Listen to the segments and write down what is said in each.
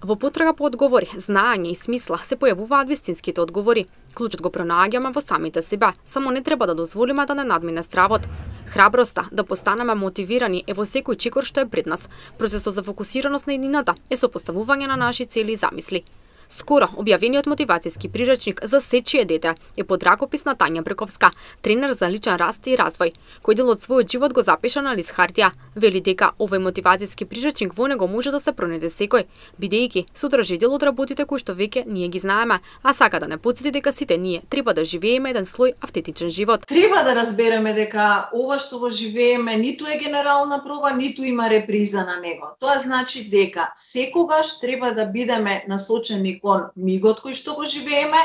Во потрага по одговори, знаење и смисла се појавуваат вистинските одговори. Клучот го пронаѓаме во самите себе, само не треба да дозволиме да не надмине стравот. Храброста да постанеме мотивирани е во секој чекор што е пред нас. Процесот за фокусираност на еднината е сопоставување на наши цели и замисли. Скоро објавениот мотивацијски приречник за сечие дете е под ракопис на Тања Брековска, тренер за личен раст и развој, кој дел од својот живот го запиша на лист хартија. Вели дека овој мотивацијски приречник во него може да се пронајде секој, бидејќи содржи дел од работите кои што веќе ние ги знаеме, а сака да не потсети дека сите ние треба да живееме еден слој автентичен живот. Треба да разбереме дека ова што го живееме ниту е генерална проба, ниту има реприза на него. Тоа значи дека секогаш треба да бидеме насочени кон мигот кој што го живееме,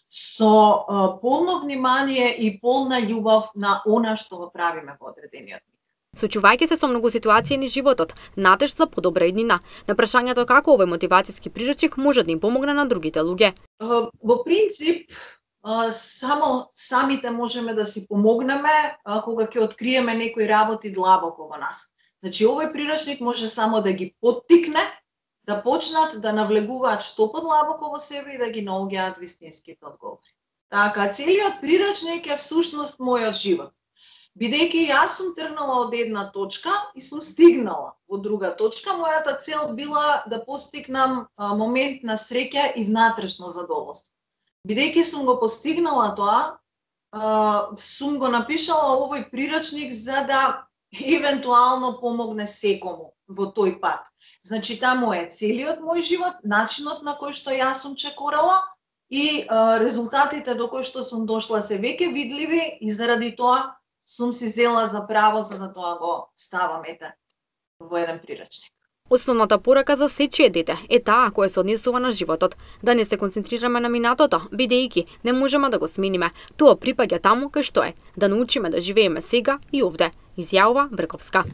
со полно внимание и полна љубов на она што го правиме во одредениот миг. Сочувајќи се со многу ситуации низ животот, надеж за подобра еднина, на прашањето како овој мотивацијски приречник може да им помогне на другите луѓе. Во принцип, само самите можеме да си помогнеме кога ќе откриеме некои работи длабоко во нас. Значи, овој приречник може само да ги поттикне да почнат да навлегуваат што подлабоко во себе и да ги наоѓаат вистинските одговори. Така, целиот приречник е всушност мојот живот. Бидејќи јас сум тргнала од една точка и сум стигнала во друга точка, мојата цел била да постигнам момент на среќа и внатрешно задоволство. Бидејќи сум го постигнала тоа, сум го напишала овој приречник за да евентуално помогне секому во тој пат. Значи, таму е целиот мој живот, начинот на кој што јас сум чекорала и резултатите до кои што сум дошла се веќе видливи и заради тоа сум си зела за право за да тоа го ставам во еден приречник. Основната порака за сечие дете е таа која се однесува на животот, да не се концентрираме на минатото, бидејќи не можеме да го смениме. Тоа припаѓа таму кај што е, да научиме да живееме сега и овде, изјавува Брековска.